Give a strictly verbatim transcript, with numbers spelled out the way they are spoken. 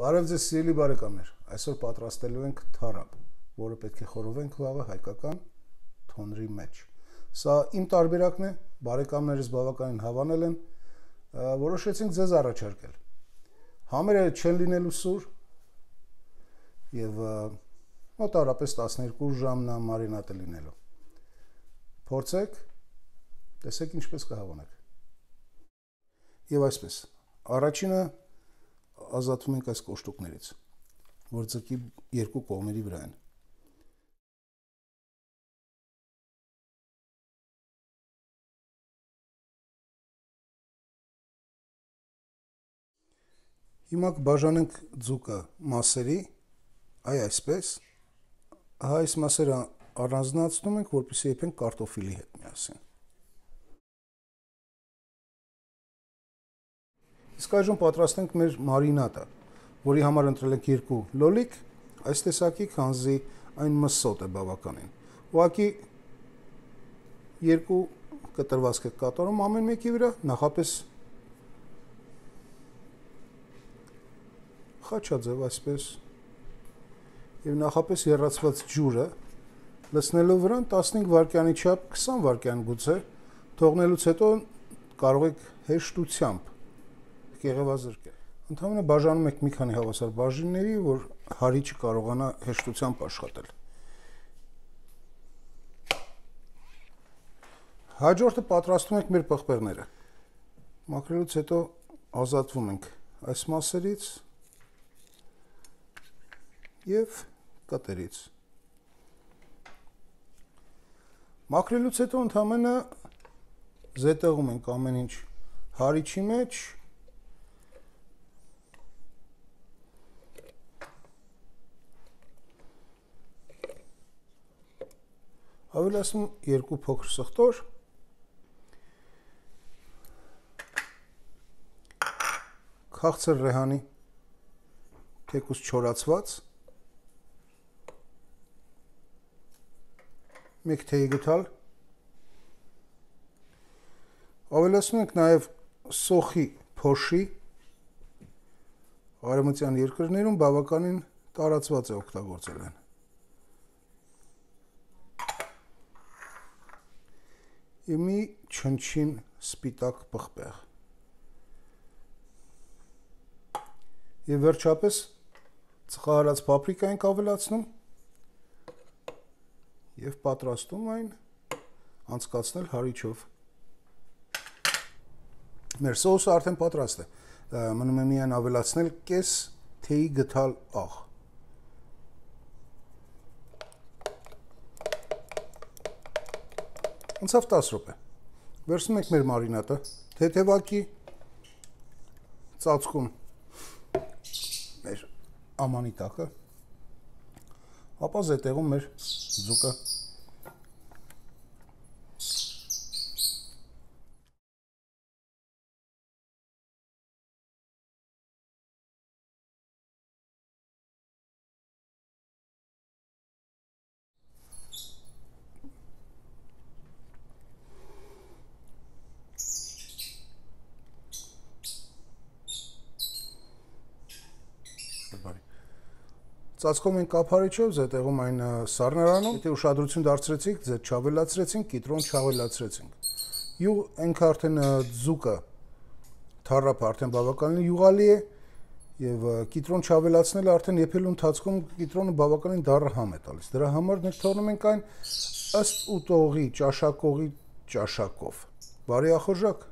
Բարև ձեզ սիրելի բարեկամներ, այսօր պատրաստելու ենք թարապ, որը պետք է խորովենք վաղը հայկական թոնրի մեջ։ Սա իմ տարբերակն է, բարեկամներս բավականին հավանել են, որոշեցինք ձեզ առաջարկել։ Համերը չեն լինելու սուր եւ մոտավորապես տասներկու ժամ նա մարինատ է լինելու։ Փորձեք, տեսեք ինչպես կհավանեք։ Եվ այսպես, առաջինը ազատվում ենք այս կոշտուկներից, որ ձգի երկու կողմերի վրա են։ Հիմա կբաժանենք ձուկը մասերի, այ այսպես, այս մասերը առանձնացնում ենք, որպեսզի եփենք կարտոֆիլի հետ միասին։ Իսկ այժմ պատրաստենք մեր մարինատը, որի համար ընտրել ենք երկու լոլիկ, այս տեսակի, քանզի այն մսոտ է բավականին։ Ուղղակի երկու կտրվածք եք կատարում ամեն մեկի վրա, նախապես խաչաձև այսպես, եւ նախապես եռացված ջուրը լցնելով վրան տասնհինգ վայրկյանի չափ, քսան վայրկյան գուցե, թողնելուց հետո կարող եք հեշտությամբ կեղևազրկել։ Ընդհանրապես բաժանում եք մի քանի հավասար բաժինների, որ հարիճը կարողանա հեշտությամբ աշխատել։ Հաջորդը պատրաստում ենք մեր պղպեղները։ Մաքրելուց հետո ազատվում ենք այս մասերից եւ կտերից։ Մաքրելուց հետո ընդհանրապես զետեղում ենք ամեն ինչ հարիճի մեջ։ Ավելացնում երկու փոքր սխտոր, քաղցր ռեհանի, թեկուզ չորացված, մեկ թեյի գդալ, ավելացնում ենք նաև սոխի փոշի, արևմտյան երկրներում բավականին տարածված է օգտագործել են։ Եվ մի չնչին սպիտակ պղպեղ։ Եվ վերջապես ծխահարած պապրիկա ենք ավելացնում եւ պատրաստում այն անցկացնել հարիճով։ Մեր սոուսը արդեն պատրաստ է։ Մնում է միայն ավելացնել կես թեյի գդալ աղ։ Անցավ տասը րոպե։ Վերցնում ենք մեր մարինատը, թեթևակի ծածկում մեր ամանի տակը, ապա զետեղում մեր ձուկը։ Ծածկում ենք կափարիչով, զետեղում այն սառնարանում, եթե ուշադրություն դարձրեցիք, ձետ չավելացրեցինք, կիտրոն չավելացրեցինք։ Յուղ ենք արդեն ձուկը, թարապը արդեն բավականին յուղալի է, եւ կիտրոն չավելացնելը արդեն եփելու ընթացքում կիտրոնը բավականին դառը համ է տալիս։ Դրա համար մենք թողնում ենք այն ըստ ուտողի, ճաշակողի ճաշակով։ Բարի ախորժակ։